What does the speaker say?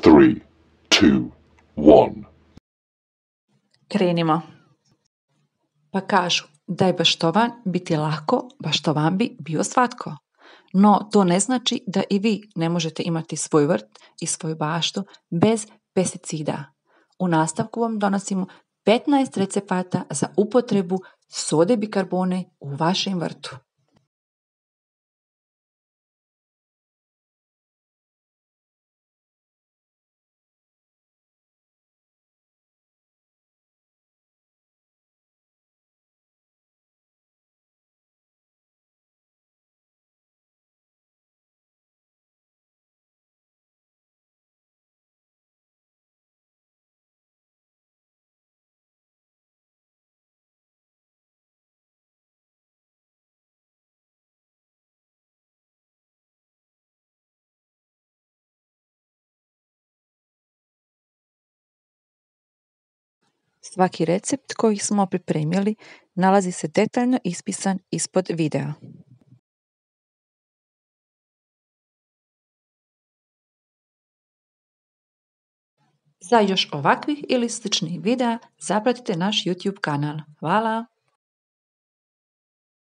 3, 2, 1. Krenimo. Pa kažu da je baštovan biti lako, baštovan bi bio svatko. No to ne znači da i vi ne možete imati svoj vrt i svoju baštu bez pesticida. U nastavku vam donosimo 15 recepata za upotrebu sode bikarbone u vašem vrtu. Svaki recept koji smo pripremili nalazi se detaljno ispisan ispod videa. Za još ovakvih ili sličnih videa zapratite naš YouTube kanal. Hvala!